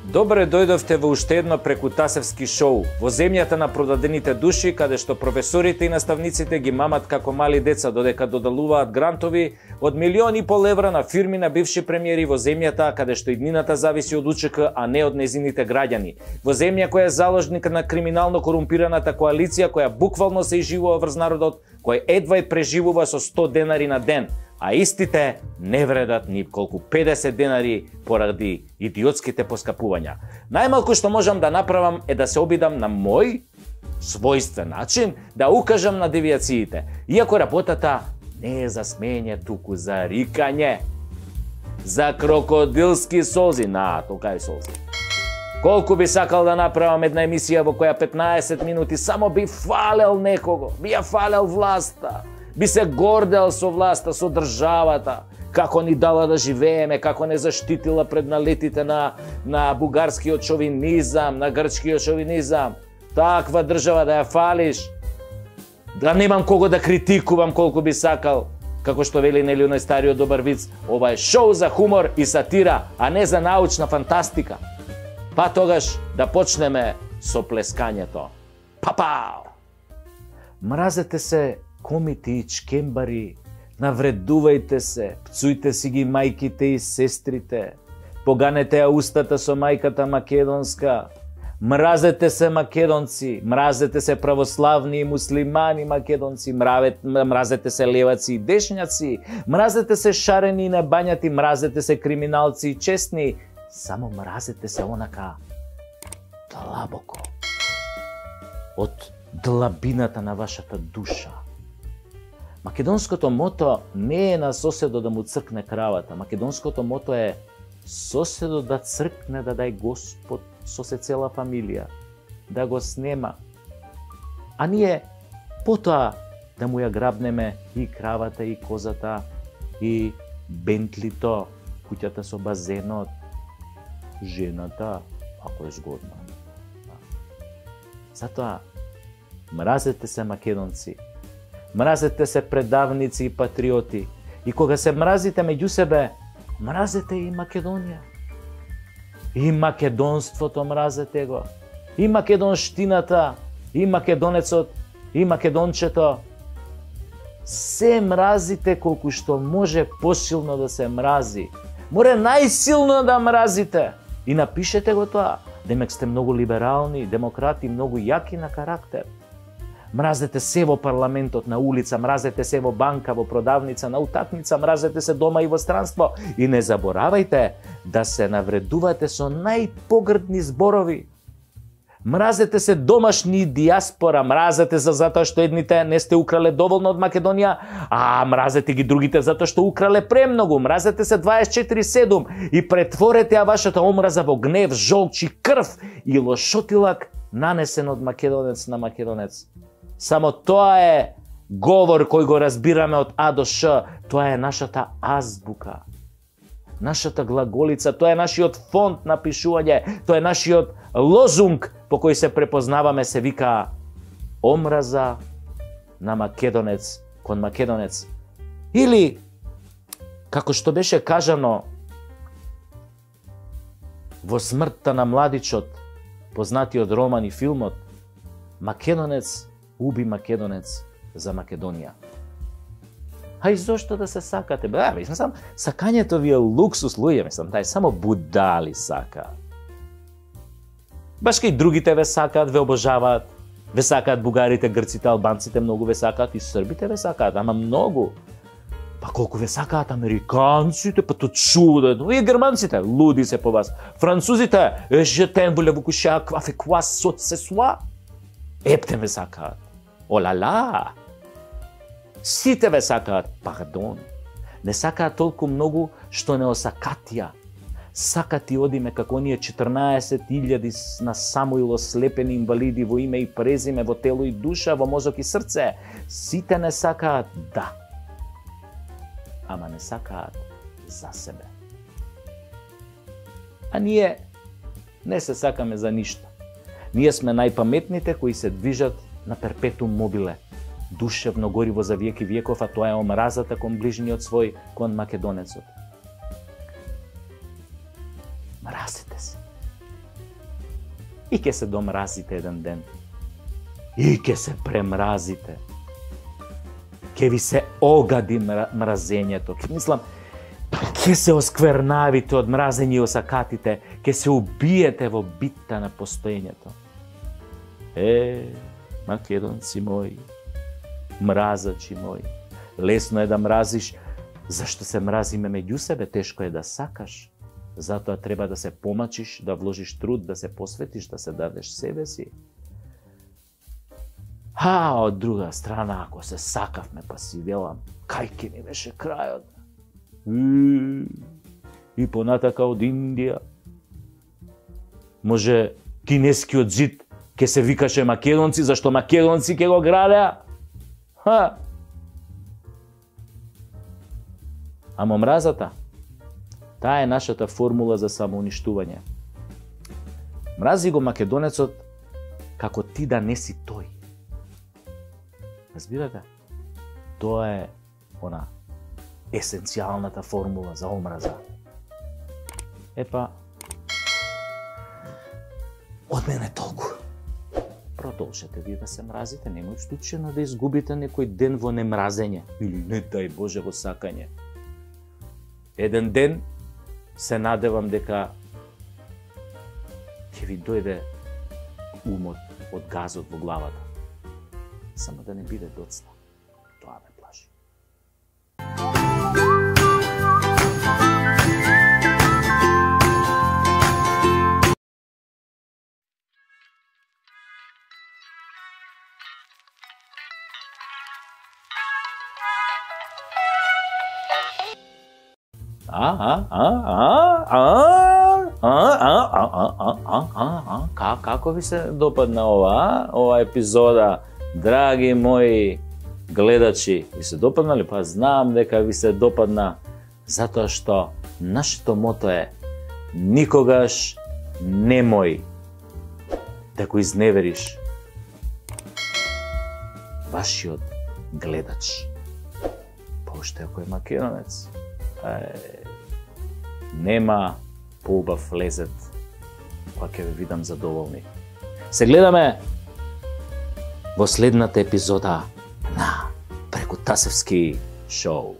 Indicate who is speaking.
Speaker 1: Добре дојдовте во уште едно прекутасевски шоу, во земјата на продадените души, каде што професорите и наставниците ги мамат како мали деца додека додалуваат грантови од 1,5 милион евра на фирми на бивши премиери во земјата каде што иднината зависи од УЧК, а не од незините граѓани. Во земја која е заложник на криминално корумпираната коалиција која буквално се изживува врз народот, кој едва и преживува со 100 денари на ден, а истите не вредат ни колку 50 денари поради идиотските поскапувања. Најмалку што можам да направам е да се обидам на мој својствен начин да укажам на девијациите, иако работата не е за смење, туку за рикање, за крокодилски солзи, толкави солзи. Колку би сакал да направам една емисија во која 15 минути само би фалел некого, би ја фалел власта, би се гордел со власта, со државата, како ни дала да живееме, како не заштитила пред налетите на бугарскиот шовинизам, на грчкиот шовинизам. Таква држава да ја фалиш, да немам кого да критикувам колку би сакал, како што вели нели оној стариот добар виц, ова е шоу за хумор и сатира, а не за научна фантастика. Па тогаш да почнеме со плескањето. Папау! Мразете се комити и чкембари, навредувајте се, пцујте си ги мајките и сестрите, поганете ја устата со мајката македонска, мразете се македонци, мразете се православни и муслимани македонци, мразете се леваци и дешњаци, мразете се шарени и небањати, мразете се криминалци и честни, само мразете се онака длабоко, од длабината на вашата душа. Македонското мото не е на соседо да му цркне кравата. Македонското мото е соседо да цркне, да дај Господ со се цела фамилија, да го снема. А ние потоа да му ја грабнеме и кравата, и козата, и бентлито, куќата со базенот, жената, ако е згодна. Затоа, мразете се македонци, мразете се предавници и патриоти. И кога се мразите меѓу себе, мразете и Македонија. И македонството мразете го. И македонштината, и македонецот, и македончето. Се мразите колку што може посилно да се мрази. Море најсилно да мразите. И напишете го тоа. Демек сте многу либерални, демократи, многу јаки на карактер. Мразете се во парламентот, на улица, мразете се во банка, во продавница, на утакмица, мразете се дома и во странство. И не заборавајте да се навредувате со најпогрдни зборови. Мразете се домашни диаспора, мразете се затоа што едните не сте украле доволно од Македонија, а мразете ги другите затоа што украле премногу. Мразете се 24/7 и претворете ја вашата омраза во гнев, жолч и крв и лошотилак нанесен од македонец на македонец. Само тоа е говор кој го разбираме од А до Ш. Тоа е нашата азбука, нашата глаголица, тоа е нашиот фонд на пишување, тоа е нашиот лозунг по кој се препознаваме, се вика омраза на македонец кон македонец. Или, како што беше кажано во Смртта на младичот, познатиот роман и филмот, македонец уби македонец за Македонија. А и зошто да се сакате? Мислам, сакањето ви е луксус, луѓе, мислам, тај само будали сакаат. Баш кај другите ве сакаат, ве обожаваат, ве сакаат бугарите, грците, албанците, многу ве сакаат, и србите ве сакаат, ама многу. Па колку ве сакаат американците, па то чудо, и германците, луди се по вас. Французите, жетен воле во куша, квафе квас сот се суа. Ептен ве сакаат. Олала! Сите ве сакаат, пардон. Не сакаат толку многу што не осакатија. Сакати одиме како оние 14.000 на Самуил ослепени инвалиди во име и презиме, во тело и душа, во мозок и срце. Сите не сакаат, да. Ама не сакаат за себе. А ние не се сакаме за ништо. Ние сме најпаметните кои се движат на перпетум мобиле, душевно гориво за веки веков, а тоа е омразата кон ближниот свој, кон македонецот. Мразите се. И ќе се домразите еден ден. И ќе се премразите. Ќе ви се огади мразењето. Ќе се осквернавите од мразење и осакатите. Ќе се убиете во битта на постоењето. Македонци мои, мразачи мои, лесно е да мразиш, зашто се мразиме меѓу себе, тешко е да сакаш. Затоа треба да се помачиш, да вложиш труд, да се посветиш, да се дадеш себе си. Од друга страна, ако се сакавме, па си велам, кај ке ни беше крајот? И понатака од Индија. Може кинескиот зид ке се викаше македонци, зашто македонци ке го градеа? Амо мразата, таа е нашата формула за самоуништување. Мрази го македонецот како ти да не си тој. Разбирате? Тоа е она есенцијалната формула за омраза. Од мене толку. Продолжете вие да се мразите, немој случајно да изгубите некој ден во немразење или не дај Боже во сакање. Еден ден се надевам дека ќе ви дојде умот од газот во главата. Само да не биде доцна. Тоа ме плаши. Како ви се допадна ова епизода, драги мои гледачи? Ви се допаднали? Па знам дека ви се допадна, затоа што нашето мото е никогаш немој да го изневериш вашиот гледач. Уште ако е македонец, нема поубав лезет кога ќе ве видам задоволни. Се гледаме во следната епизода на Прекутасевски шоу.